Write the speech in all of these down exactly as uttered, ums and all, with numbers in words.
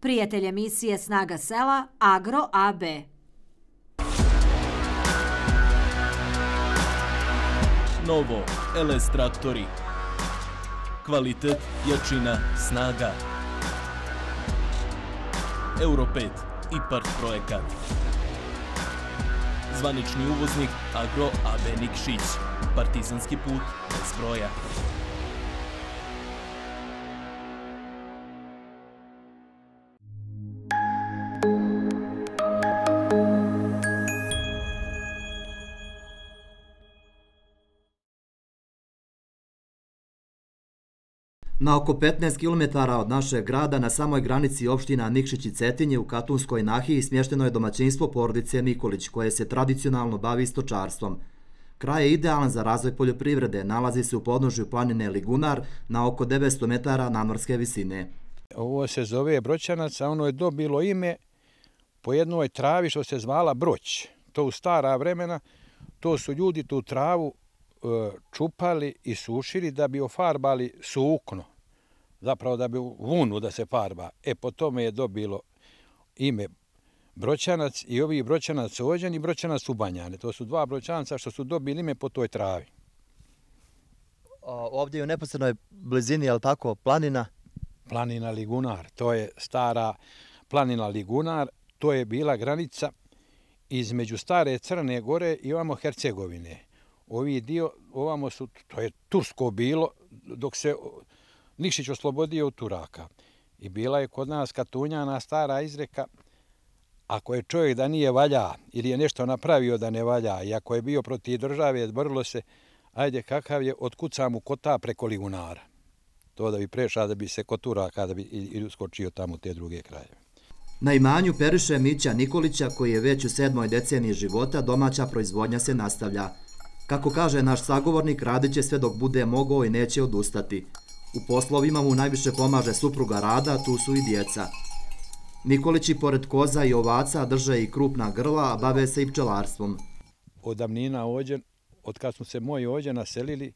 Prijatelj emisije Snaga sela Agro A B. Novo L S traktori. Kvalitet, jačina, snaga. Euro pet IPARD projekat. Zvanični uvoznik Agro A B Nikšić. Partizanski put bez broja. Na oko petnaest kilometara od našeg grada, na samoj granici opština Nikšić i Cetinje u Katunskoj nahiji, smješteno je domaćinstvo porodice Nikolić, koje se tradicionalno bavi stočarstvom. Kraj je idealan za razvoj poljoprivrede, nalazi se u podnožju planine Ligunar na oko devetsto metara nadmorske visine. Ovo se zove Broćanac, a ono je dobilo ime po jednoj travi što se zvala Broć. To u stara vremena, to su ljudi tu travu čupali i sušili da bi ofarbali sukno, zapravo da bi vunu da se farba. E, po tome je dobilo ime Broćanac i ovi Broćanac Ođen i Broćanac Ubanjane. To su dva Broćanca što su dobili ime po toj travi. Ovdje je u neposrednoj blizini, je li tako, planina? Planina Ligunar, to je stara planina Ligunar, to je bila granica između stare Crne Gore i ovamo Hercegovine. Ovi dio, ovamo su, to je Tursko bilo, dok se Nikšić oslobodio od Turaka. I bila je kod nas Katunjana stara izreka, ako je čovjek da nije valja ili je nešto napravio da ne valja i ako je bio protiv države, borilo se, ajde kakav je, otkuca mu kota preko Ligunara. To da bi prešao, da bi se kod Turaka, da bi i uskočio tamo te druge krajeve. Na imanju Periše Mića Nikolića, koji je već u sedmoj deceniji života, domaća proizvodnja se nastavlja. Kako kaže naš sagovornik, radit će sve dok bude mogao i neće odustati. U poslovima mu najviše pomaže supruga Rada, tu su i djeca. Nikolići pored koza i ovaca drže i krupna grla, a bave se i pčelarstvom. Od davnina Ođen, od kad smo se moji Ođen naselili,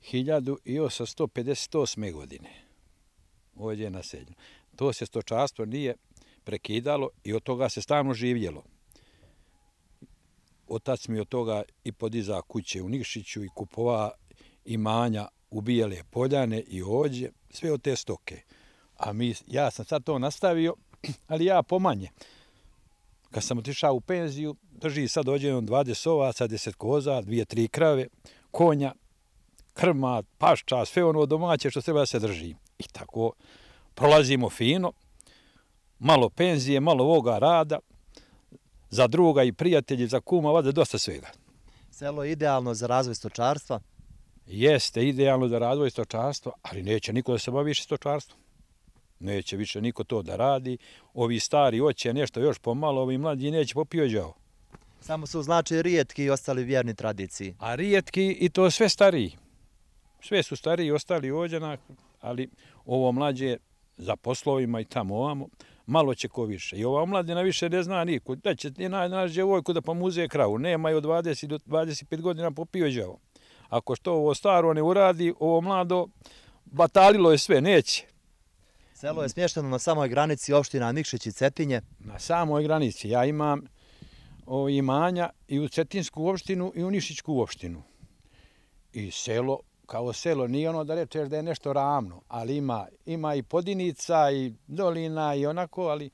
hiljadu osamsto pedeset osme. godine. Ovdje je naseljeno. To se stočarstvo nije prekidalo i od toga se stalno živjelo. Otac mi od toga i podiza kuće u Nikšiću i kupova imanja u Bijele Poljane i Ođe, sve od te stoke. A mi, ja sam sad to nastavio, ali ja pomanje. Kad sam otišao u penziju, drži sad Ođenom dvadeset ovaca, deset koza, dvije, tri krave, konja, krma, pašča, sve ono domaće što treba da se drži. I tako prolazimo fino, malo penzije, malo ovoga rada, za druga i prijatelji, za kuma, vada dosta svega. Selo je idealno za razvoj stočarstva? Jeste idealno za razvoj stočarstva, ali neće niko da se bavi više stočarstvom. Neće više niko to da radi. Ovi stari hoće nešto još pomalo, ovi mlađi neće popiođao. Samo su znači rijetki i ostali vjerni tradiciji. A rijetki i to sve stariji. Sve su stariji i ostali Ođena, ali ovo mlađe za poslovima i tamo ovamo, malo će ko više. I ova omladina više ne zna niko. Da će naći djevojku da pomuze kravu. Nema je od dvadeset do dvadeset pet godina popiođao. Ako što ovo staro ne uradi, ovo mlado batalilo je sve, neće. Selo je smješteno na samoj granici opština Nikšić i Cetinje. Na samoj granici. Ja imam imanja i u Cetinsku opštinu i u Nikšićku opštinu. I selo, kao selo, nije ono da rečeš da je nešto ravno, ali ima, ima i podinica i dolina i onako, ali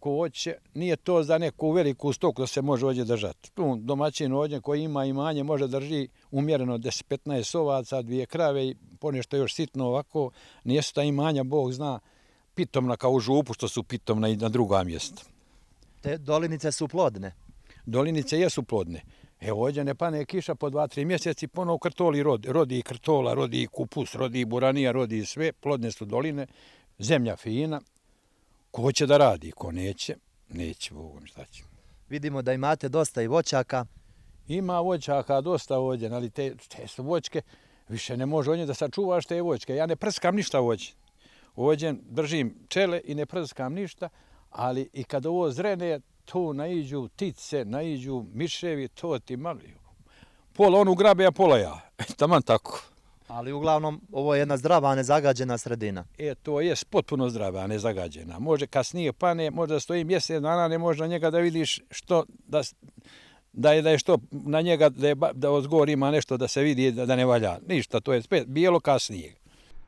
ko hoće, nije to za neku veliku stoku da se može ovdje držati. Tu domaćin ovdje koji ima imanje može drži umjereno deset petnaest ovaca, dvije krave i ponešto još sitno ovako. Nijesu ta imanja, Bog zna, pitomna kao u Župu što su pitomna i na druga mjesta. Te dolinice su plodne? Dolinice jesu plodne. Evo ovdje ne pane kiša po dva, tri mjeseci, ponovo krtoli rodi. Rodi i krtola, rodi i kupus, rodi i buranija, rodi i sve. Plodne su doline, zemlja fina. Ko hoće da radi, ko neće, neće, Bogom šta će. Vidimo da imate dosta i voćaka. Ima voćaka dosta ovdje, ali te, te su voćke, više ne može ovdje da sačuvaš te voćke. Ja ne prskam ništa voće. Ovdje držim pčele i ne prskam ništa, ali i kad ovo zrene, tu naiđu ptice, naiđu miševi, to ti mali. Pola onu grabe, a pola ja. Taman tako. Ali uglavnom ovo je jedna zdrava, nezagađena sredina. E, to je potpuno zdrava, nezagađena. Može kasnije pane, možda stoji mjesec dana, ne može na njega da vidiš što, da, da, je, da je što na njega, da, je, da ozgor ima nešto da se vidi da, da ne valja. Ništa, to je spet bijelo kasnije.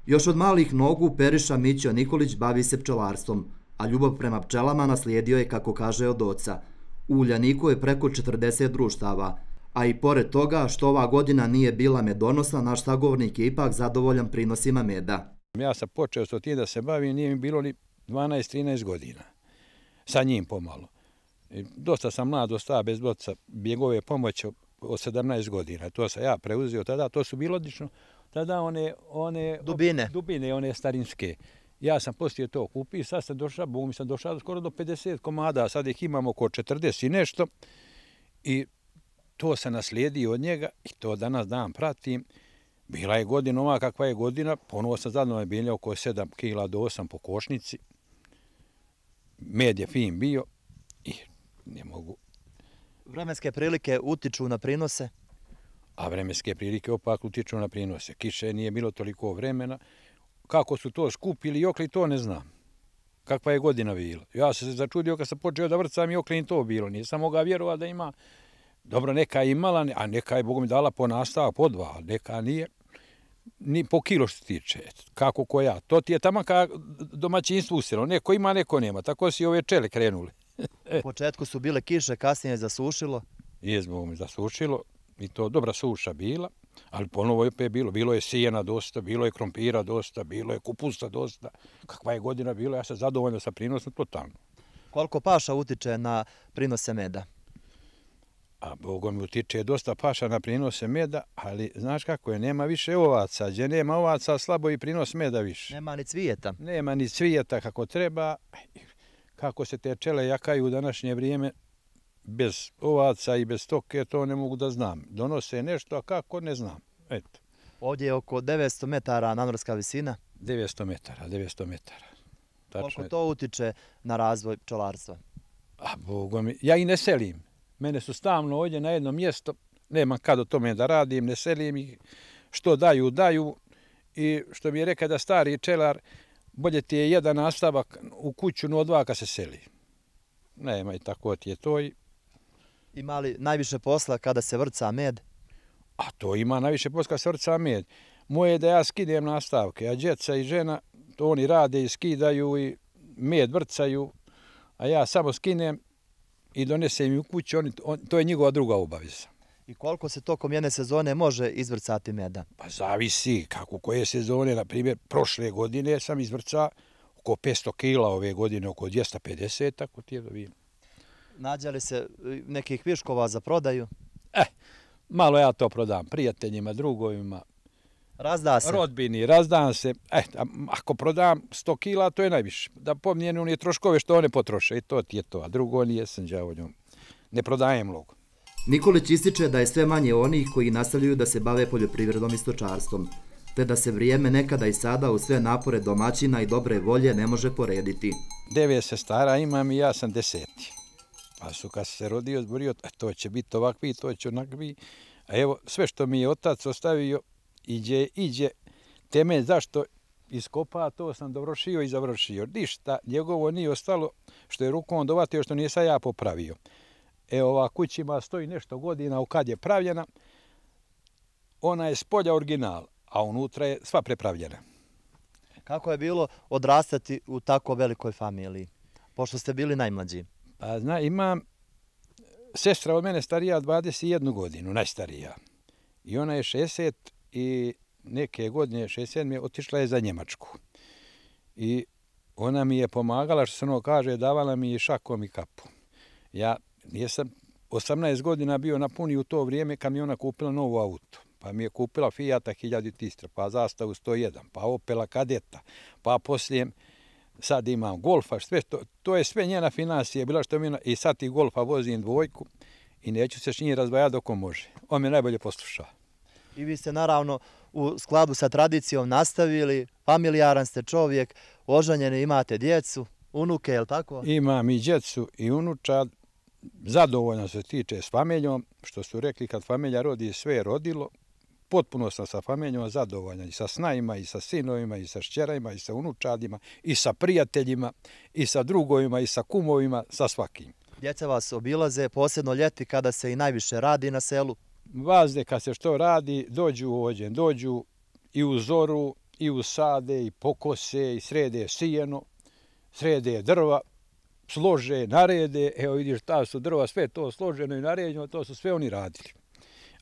Još od malih nogu Periša Mićo Nikolić bavi se pčelarstvom, a ljubav prema pčelama naslijedio je, kako kaže, od oca. U Uljaniku je preko četrdeset društava, a i pored toga što ova godina nije bila medonosna, naš sagovornik je ipak zadovoljan prinosima meda. Ja sam počeo s tim da se bavim, nije mi bilo ni dvanaest trinaest godina. Sa njim pomalo. I dosta sam mlad ostao bez oca, njegove pomoći od sedamnaest godina. To sam ja preuzeo tada, to su bilo odlično. Tada one, one dubine. dubine, one starinske. Ja sam poslije to kupio, sad sam došao, Bog mi sam došao skoro do pedeset komada, sad ih imamo oko četrdeset i nešto. I to sam naslijedio od njega i to danas dan pratim. Bila je godina ova kakva je godina, ponovo sam zadovoljan bilja oko sedam kila do osam po košnici. Med je fin bio i ne mogu. Vremenske prilike utiču na prinose? A vremenske prilike opak utiču na prinose. Kiše nije bilo toliko vremena. Kako su to skupili i okli, to ne znam. Kakva je godina bila. Ja sam se začudio kad sam počeo da vrcam i okli to bilo. Nisam mogao vjerovati da ima. Dobro, neka je imala, a neka je, Bogu mi dala po nastavak, po dva, neka nije ni po kilo što tiče. Kako ko ja. To ti je tamo kao domaćinstvo usjelo. Neko ima, neko nema. Tako si ove čele krenuli. U početku su bile kiše, kasnije je zasušilo. Jes, Bogu mi zasušilo. I to dobra suša bila. Ali ponovo je opet bilo. Bilo je sijena dosta, bilo je krompira dosta, bilo je kupusa dosta. Kakva je godina bila, ja sam zadovoljno sa prinosom totalno. Koliko paša utiče na prinose meda? A Bogom mi utiče dosta paša na prinose meda, ali znaš kako je, nema više ovaca. Gdje nema ovaca, slabo i prinos meda više. Nema ni cvijeta. Nema ni cvijeta kako treba. Kako se te pčele jakaju u današnje vrijeme, bez ovaca i bez stoke, to ne mogu da znam. Donose nešto, a kako, ne znam. Eto. Ovdje je oko devetsto metara nadmorska visina. devetsto metara, devetsto metara. Tačno. Koliko to utiče na razvoj pčelarstva? A Bogom mi, ja i ne selim. Mene su stalno ovdje na jedno mjesto, nemam kad o tome da radim, ne selim ih, što daju, daju. I što mi je rekao da stari pčelar, bolje ti je jedan nastavak u kuću, no dva kad se seli. Nema i tako ti je to. Ima li najviše posla kada se vrca med? A to ima najviše posla kada se vrca med. Moje je da ja skidem nastavke, a djeca i žena, to oni rade i skidaju i med vrcaju, a ja samo skinem i donesem u kuću, oni, on, to je njegova druga obaveza. I koliko se tokom jedne sezone može izvrcati meda? Pa zavisi kako koje sezone. Na primjer, prošle godine sam izvrcao oko petsto kila, ove godine oko dvjesto pedeset, tako ti je dobijem. Nađe li se nekih viškova za prodaju? Eh, malo ja to prodam prijateljima, drugovima. Razda se? Rodbini, razdam se. Eh, ako prodam sto kila, to je najviše. Da pomnijem one troškove što one potroše i to ti je to. A drugo nijesam đavo njom. Ne prodajem mnogo. Nikolić ističe da je sve manje onih koji nastavljaju da se bave poljoprivredom i stočarstvom, te da se vrijeme nekada i sada u sve napore domaćina i dobre volje ne može porediti. Devet sestara imam i ja sam deseti. Pa su kad se rodio, zborio, to će biti ovakvi, to će onakvi. A evo, sve što mi je otac ostavio, iđe, iđe, temelj zašto iskopa, to sam dovršio i završio. Ništa, njegovo nije ostalo što je rukom dovatio, što nije sad ja popravio. Evo, ova kućima stoji nešto godina, kad je pravljena, ona je s polja original, a unutra je sva prepravljena. Kako je bilo odrastati u tako velikoj familiji, pošto ste bili najmlađi? Pa zna, imam sestra od mene starija dvadeset jednu godinu, najstarija. I ona je šezdeset i neke godine, šezdeset sedme, otišla je za Njemačku. I ona mi je pomagala, što se ono kaže, davala mi i šakom i kapu. Ja nisam osamnaest godina bio napuni u to vrijeme kad mi ona kupila novu auto. Pa mi je kupila Fijata hiljadu Tistra, pa Zastavu sto jedan, pa Opela Kadeta, pa poslije sad imam Golfa, sve to, to je sve njena financija bila što mi ona, i sad i Golfa vozim dvojku i neću se s njim razdvajati dok on može. On me najbolje posluša. I vi ste naravno u skladu sa tradicijom nastavili, familijaran ste čovjek, oženjeni, imate djecu, unuke, je li tako? Imam i djecu i unučad, zadovoljno se tiče s familjom, što su rekli kad familja rodi, sve je rodilo, potpuno sam sa familijom zadovoljan i sa snajima, i sa sinovima, i sa šćerajima, i sa unučadima, i sa prijateljima, i sa drugovima, i sa kumovima, sa svakim. Djeca vas obilaze, posebno ljeti kada se i najviše radi na selu. Vazde kad se što radi, dođu ovdje, dođu i u zoru, i u sade, i pokose, i srede sijeno, srede drva, slože, narede, evo vidiš, ta su drva, sve to složeno i naređeno, to su sve oni radili.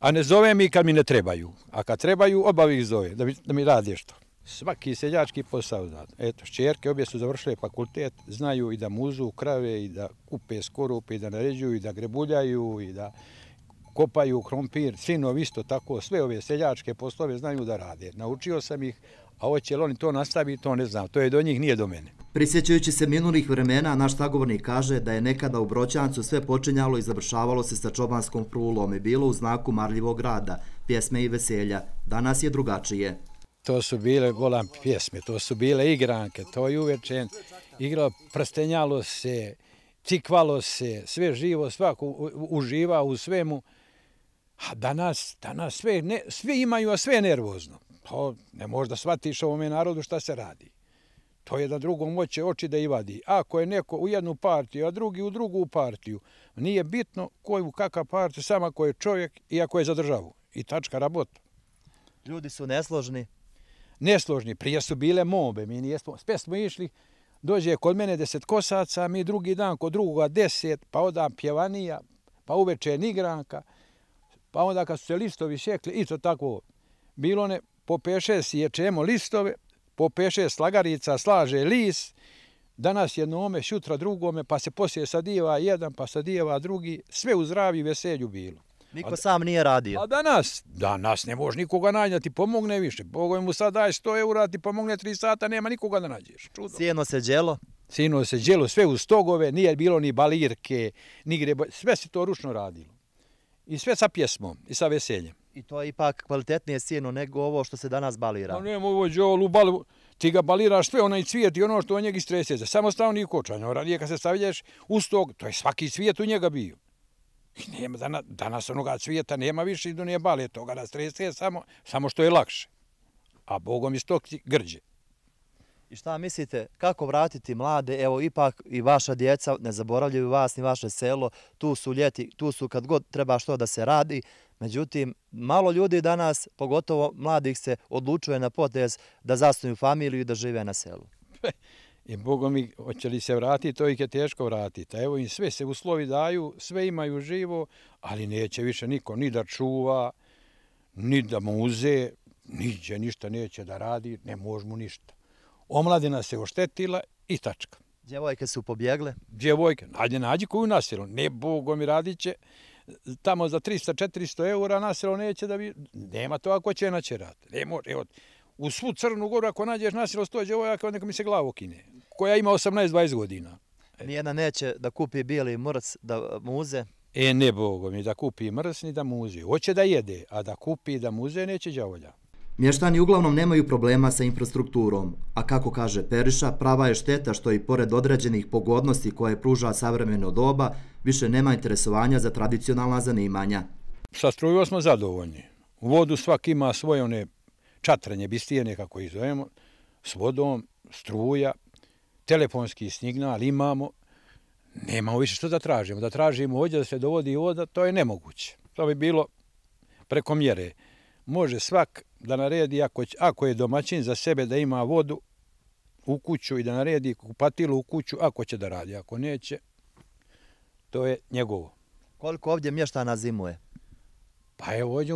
A ne zove mi kad mi ne trebaju, a kad trebaju, oba ih zove, da mi, da mi radi što. Svaki seljački posao zna. Eto, šćerke obje su završile fakultet, znaju i da muzu krave, i da kupe skorupe, i da naređuju, i da grebuljaju, i da kopaju krompir. Sinovi isto tako, sve ove seljačke poslove znaju da rade. Naučio sam ih, a hoće li oni to nastaviti, to ne znam. To je do njih, nije do mene. Prisjećajući se minulih vremena, naš sagovornik kaže da je nekada u Broćancu sve počinjalo i završavalo se sa čobanskom frulom i bilo u znaku marljivog rada, pjesme i veselja. Danas je drugačije. To su bile volam pjesme, to su bile igranke, to je uveče igralo, prstenjalo se, cikvalo se, sve živo, svako uživa u svemu. A danas, danas sve, ne, svi imaju, a sve je nervozno. To ne možda shvatiš ovome narodu šta se radi. To je da drugom hoće oči da i vadi. Ako je neko u jednu partiju, a drugi u drugu partiju, nije bitno koju kakav partiju, samo ako je čovjek i ako je za državu. I tačka rabota. Ljudi su nesložni. Nesložni, prije su bile mobe, mi nijesmo, sve smo išli, dođe kod mene deset kosaca, mi drugi dan kod drugoga deset, pa onda pjevanija, pa uveče igranka, pa onda kad su se listovi šekli, i to tako, bilo ne, po peše sječemo listove, po peše slagarica slaže lis, danas jednome, šutra drugome, pa se poslije sadijeva jedan, pa sadijeva drugi, sve u zdravlju i veselju bilo. Niko sam nije radio. A danas, danas ne može nikoga naći da ti pomogne više. Bogoj mu sad daj sto eura, ti pomogne tri sata, nema nikoga da nađeš. Čudo. Sjeno se đelo. Sjeno se đelo, sve u stogove, nije bilo ni balirke, ni grebo, sve se to ručno radilo. I sve sa pjesmom i sa veseljem. I to je ipak kvalitetnije sjeno nego ovo što se danas balira. No nema ovo đolu, balu, ti ga baliraš sve, onaj cvijet i ono što od njega istreseze. Samo stavni kočanj, ranije kad se stavljaš u stog, to je svaki cvijet u njega bio. Nema, danas, danas onoga cvijeta nema više i do nije bale toga da strese, samo, samo što je lakše. A Bogom iz tog grđe. I šta mislite, kako vratiti mlade, evo ipak i vaša djeca, ne zaboravljaju vas ni vaše selo, tu su ljeti, tu su kad god treba što da se radi, međutim, malo ljudi danas, pogotovo mladih, se odlučuje na potez da zasnuju familiju i da žive na selu. I Bogom mi, hoće li se vratiti, to ih je teško vratiti. Evo im sve se uslovi daju, sve imaju živo, ali neće više niko ni da čuva, ni da muze, niđe ništa neće da radi, ne može mu ništa. Omladina se oštetila i tačka. Djevojke su pobjegle? Djevojke, nađe, nađi koju nasilo. Ne, Bogom mi radit će tamo za trista četiristo eura nasilo neće da bi... Nema to ako će naće rad. Ne može, evo, u svu Crnu Goru ako nađeš nasilo sto djevojaka, neka mi se glavu kine. Koja ima osamnaest dvadeset godina. Nijedna neće da kupi bijeli mrc, da muze? E, ne, Bogom mi da kupi mrc ni da muze. Hoće da jede, a da kupi da muze neće đavolja. Mještani uglavnom nemaju problema sa infrastrukturom, a kako kaže Periša, prava je šteta što i pored određenih pogodnosti koje pruža savremeno doba, više nema interesovanja za tradicionalna zanimanja. Sa strujom smo zadovoljni. U vodu svak ima svoje one čatrenje, bistijene kako ih zovemo, s vodom, struja, telefonski signal imamo. Nemamo više što da tražimo. Da tražimo ovdje da se dovodi voda, to je nemoguće. To bi bilo preko mjere. Može svak da naredi, ako, ako je domaćin za sebe da ima vodu u kuću i da naredi kupatilu u kuću, ako će da radi. Ako neće, to je njegovo. Koliko ovdje mještana zimuje? Pa evo ovdje,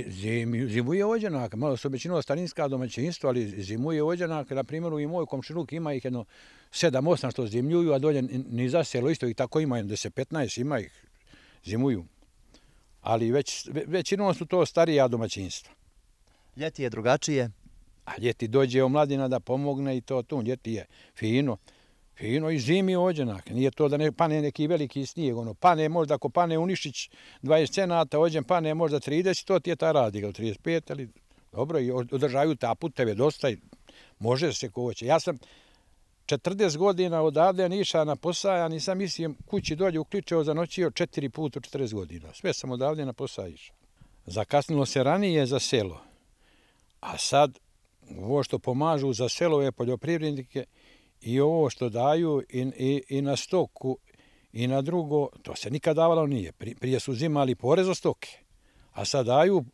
zim, zimuje ovdje, malo su većinom starinska domaćinstva, ali zimuje ovdje, na primjeru i moj komšinuk ima ih jedno sedam osam što zimljuju, a dolje ni za selo isto ih tako ima, deset petnaest ima ih, zimuju. Ali već, većinom su to starija domaćinstva. Ljeti je drugačije? A ljeti dođe omladina da pomogne i to tu, ljeti je fino. Fino i zimi ođenak, nije to da ne pane neki veliki snijeg, ono, pane možda ako pane u Nišić dvadeset cenata, ođen pane možda trideset, to ti je ta radi, trideset pet, ali dobro, i održaju ta puteve dosta i može se ko hoće. Ja sam četrdeset godina odavde Niša na posao, ja nisam mislio kući dolje u Kličevo zanoćio četiri puta u četrdeset godina, sve sam odavde na posao išao. Zakasnilo se ranije za selo, a sad ovo što pomažu za selove poljoprivrednike i ovo što daju i, i, i na stoku i na drugo, to se nikad davalo nije. Prije su uzimali porez od stoke, a sad daju,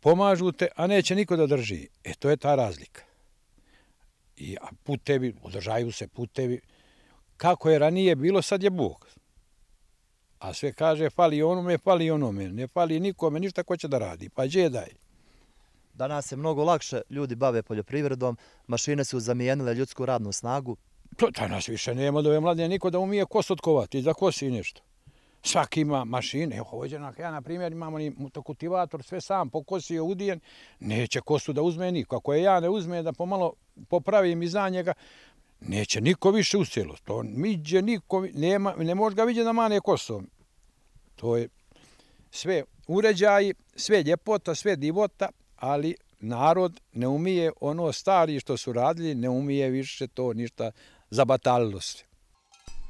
pomažu te, a neće niko da drži. E, to je ta razlika. I putevi, održaju se putevi. Kako je ranije bilo, sad je Bog. A sve kaže, fali onome, fali onome. Ne fali nikome, ništa ko će da radi. Pa gdje daj? Danas se mnogo lakše ljudi bave poljoprivredom, mašine su zamijenile ljudsku radnu snagu. To danas više nema da je mladine niko da umije kosu otkovati i da kosi nešto. Svaki ima mašine. Evo, ovdje ja, na primjer, imamo ni motokultivator, sve sam pokosio, udijen. Neće kosu da uzme niko. Ako je ja ne uzme da pomalo popravim iza njega, neće niko više u selo. To miđe niko, nema, ne može ga vidjeti da mane kosom. To je sve uređaji, sve ljepota, sve divota, ali narod ne umije ono stari što su radili, ne umije više to ništa, zabatalilo se.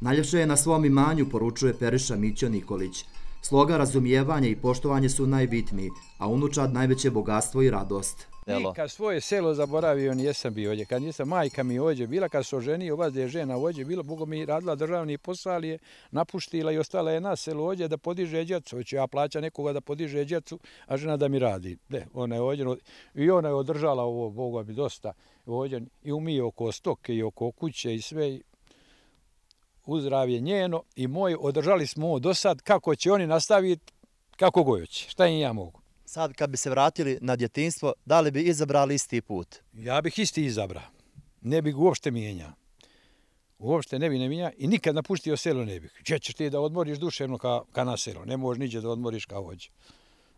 Najljepše je na svom imanju, poručuje Periša Mićo Nikolić. Sloga, razumijevanje i poštovanje su najbitniji, a unučad najveće bogatstvo i radost. Nikad svoje selo zaboravio nijesam bio ovdje. Kad nisam, majka mi ovdje bila, kad se oženio, vas da je žena ovdje bila, Boga mi radila državni posao, ali je napuštila i ostala je na selu ovdje da podiže djecu. Hoću ja plaća nekoga da podiže djecu, a žena da mi radi. Ne, ona je ovdje, i ona je održala ovo, Boga mi dosta, ovdje, i umije oko stoke i oko kuće i sve. Uzdravlje njeno i moj, održali smo ovo do sad, kako će oni nastaviti, kako gojući, šta im ja mogu. Sad kad bi se vratili na djetinjstvo, da li bi izabrali isti put? Ja bih isti izabrao, ne bih uopšte mijenjao. Uopšte ne bih ne mijenjao i nikad napustio selo ne bih. Gdje ćeš ti da odmoriš duševno ka, ka na selo, ne možeš niđe da odmoriš kao ovdje.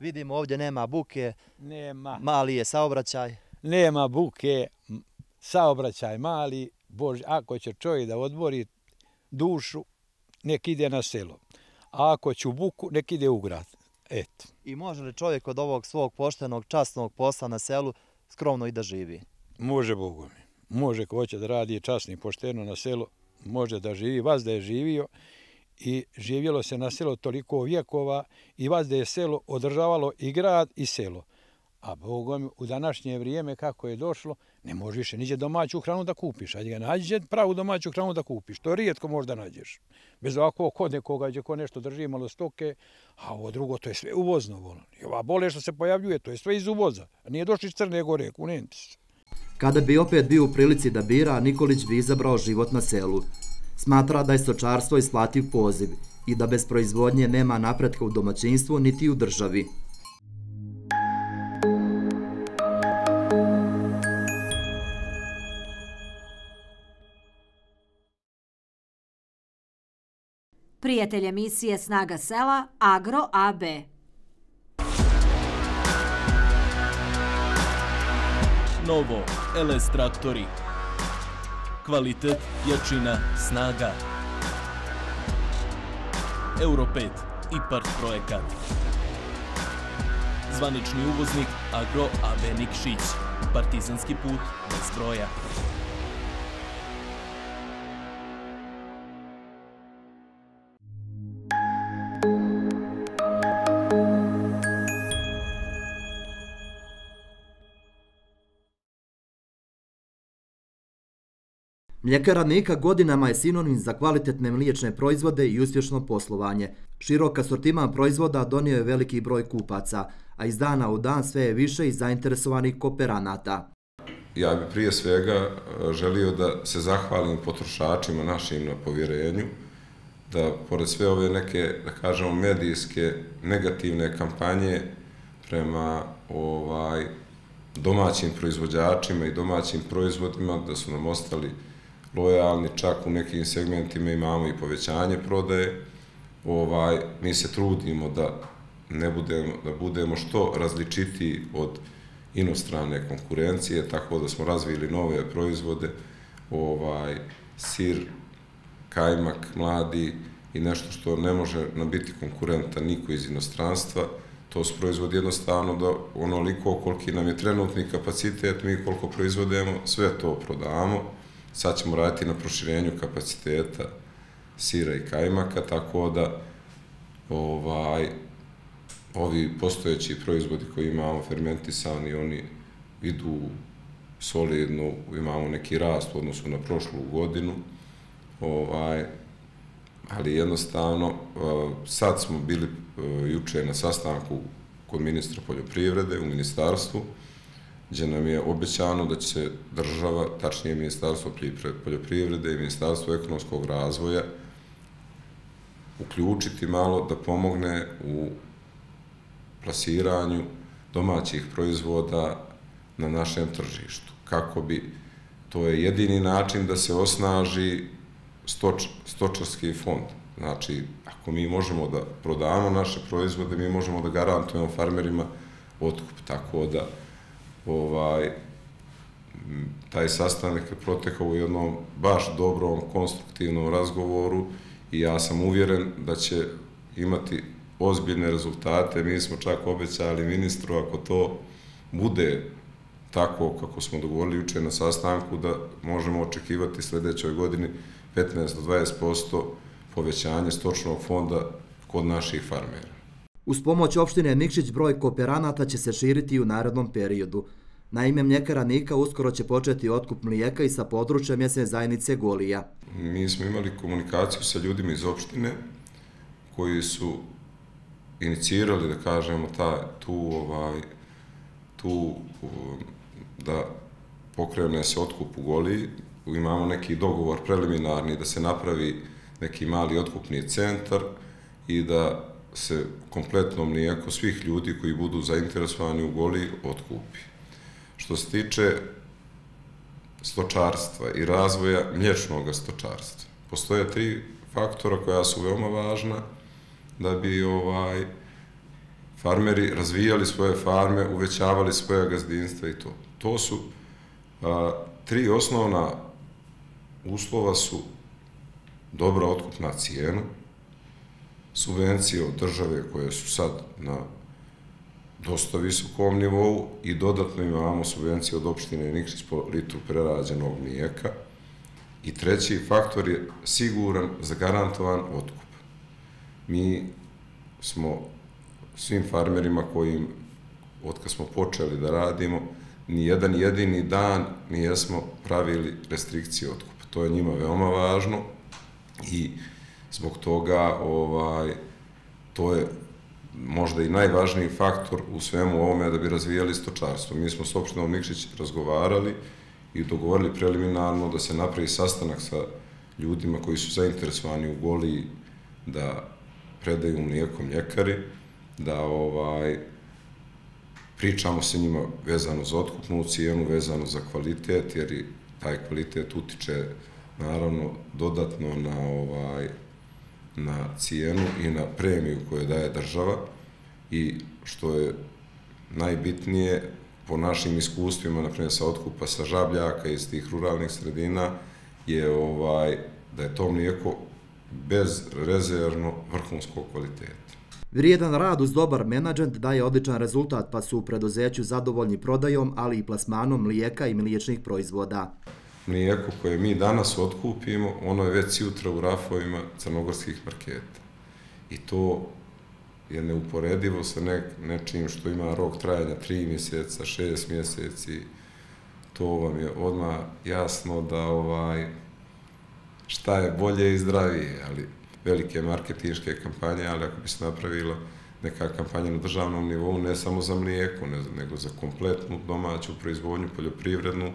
Vidimo ovdje nema buke, nema, mali je saobraćaj. Nema buke, saobraćaj mali, Bože, ako će čovjek da odmori dušu, nek ide na selo. A ako će u buku, nek ide u grad. Eto. I može li čovjek od ovog svog poštenog, časnog posla na selu skromno i da živi? Može, Bogu mi. Može ko hoće da radi časno i pošteno na selu, može da živi. Vas da je živio i živjelo se na selo toliko vjekova i vas da je selo održavalo i grad i selo. A Bogom, u današnje vrijeme kako je došlo, ne možeš više niđe domaću hranu da kupiš. Ajde ga nađe pravu domaću hranu da kupiš. To rijetko možda nađeš. Bez ovako kod nekoga gdje ko nešto drži malo stoke, a ovo drugo to je sve uvozno. I ova bolest što se pojavljuje, to je sve iz uvoza. Nije došli iz Crne Gore, kunenti se. Kada bi opet bio u prilici da bira, Nikolić bi izabrao život na selu. Smatra da je stočarstvo isplativ poziv i da bez proizvodnje nema napretka u domaćinstvu niti u državi. Prijatelj emisije Snaga sela, Agro A B. Novo L S traktori. Kvalitet, jačina, snaga. Euro pet i part projekat. Zvanični uvoznik Agro A B Nikšić. Partizanski put bez broja. Mljekara Nika godinama je sinonim za kvalitetne mliječne proizvode i uspješno poslovanje. Širok asortiman proizvoda donio je veliki broj kupaca, a iz dana u dan sve je više i zainteresovanih kooperanata. Ja bih prije svega želio da se zahvalim potrošačima našim na povjerenju, da pored sve ove neke, da kažemo, medijske negativne kampanje prema ovaj, domaćim proizvođačima i domaćim proizvodima, da su nam ostali lojalni, čak u nekim segmentima imamo i povećanje prodaje. Ovaj, mi se trudimo da ne budemo, da budemo što različitiji od inostrane konkurencije, tako da smo razvili nove proizvode, ovaj, sir, kajmak, mladi i nešto što ne može nam biti konkurentan niko iz inostranstva. To su proizvodi jednostavno da onoliko koliki nam je trenutni kapacitet, mi koliko proizvodimo, sve to prodamo. Sad ćemo raditi na proširenju kapaciteta sira i kajmaka, tako da ovaj, ovi postojeći proizvodi koji imamo, fermentisani, oni idu solidno, imamo neki rast u odnosu na prošlu godinu, ovaj, ali jednostavno sad smo bili juče na sastanku kod ministra poljoprivrede u ministarstvu, gdje nam je obećano da će se država, tačnije Ministarstvo poljoprivrede i Ministarstvo ekonomskog razvoja uključiti malo da pomogne u plasiranju domaćih proizvoda na našem tržištu. Kako bi, to je jedini način da se osnaži stoč, stočarski fond. Znači, ako mi možemo da prodamo naše proizvode, mi možemo da garantujemo farmerima otkup. Tako da, ovaj, taj sastanak je protekao u jednom baš dobrom, konstruktivnom razgovoru i ja sam uvjeren da će imati ozbiljne rezultate. Mi smo čak obećali ministru, ako to bude tako kako smo dogovorili juče na sastanku, da možemo očekivati sljedećoj godini petnaest do dvadeset posto povećanje stočnog fonda kod naših farmera. Uz pomoć opštine Nikšić broj kooperanata će se širiti i u narednom periodu. Naime, mljekara Nika uskoro će početi otkup mlijeka i sa područja mjesne zajednice Golija. Mi smo imali komunikaciju sa ljudima iz opštine koji su inicirali, da kažemo, ta, tu, ovaj, tu da pokrene se otkup u Goliji. Imamo neki dogovor preliminarni da se napravi neki mali otkupni centar i da se kompletno mlijeko svih ljudi koji budu zainteresovani u Goliji otkupi. Što se tiče stočarstva i razvoja mliječnog stočarstva, postoje tri faktora koja su veoma važna da bi ovaj, farmeri razvijali svoje farme, uvećavali svoje gazdinstva i to. To su a, tri osnovna uslova su dobra otkupna cijena, subvencije od države koje su sad na dosta visokom nivou i dodatno imamo subvencije od opštine Nikšić po litru prerađenog mlijeka. I treći faktor je siguran, zagarantovan otkup. Mi smo svim farmerima kojim, od kad smo počeli da radimo, ni jedan jedini dan nijesmo pravili restrikcije otkupa. To je njima veoma važno i zbog toga ovaj, to je možda i najvažniji faktor u svemu ovome da bi razvijali stočarstvo. Mi smo s opštinom Nikšić razgovarali i dogovorili preliminarno da se napravi sastanak sa ljudima koji su zainteresovani u Goliji da predaju mlijeko mljekari, da ovaj, pričamo sa njima vezano za otkupnu cijenu, vezano za kvalitet, jer i taj kvalitet utiče naravno dodatno na, ovaj, na cijenu i na premiju koju daje država i što je najbitnije po našim iskustvima, naprimjer sa otkupa sa žabljaka iz tih ruralnih sredina, je ovaj, da je to mlijeko bezrezervno vrhunskog kvaliteta. Vrijedan rad uz dobar menadžment daje odličan rezultat, pa su u preduzeću zadovoljni prodajom, ali i plasmanom mlijeka i mliječnih proizvoda. Mlijeko koje mi danas otkupimo, ono je već jutra u rafovima crnogorskih marketa. I to je neuporedivo sa ne, nečim što ima rok trajanja tri mjeseca, šest mjeseci. To vam je odmah jasno da ovaj, šta je bolje i zdravije, ali velike marketinške kampanje, ali ako bi se napravila neka kampanja na državnom nivou, ne samo za mlijeko, ne, nego za kompletnu domaću proizvodnju, poljoprivrednu,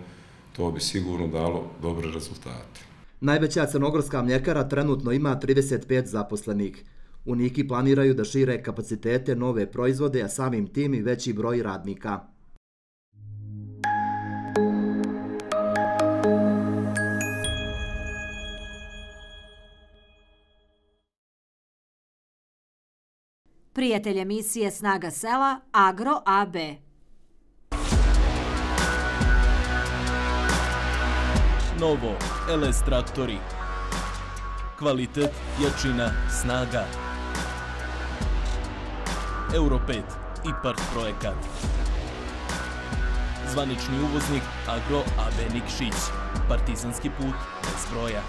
to bi sigurno dalo dobre rezultate. Najveća crnogorska mljekara trenutno ima trideset pet zaposlenih. U Niki planiraju da šire kapacitete nove proizvode, a samim tim i veći broj radnika. Prijatelj emisije Snaga sela, Agro A B. Novo L S traktori. Kvalitet, jačina, snaga. Euro pet i part projekat. Zvanični uvoznik Agro A B Nikšić. Partizanski put bez broja.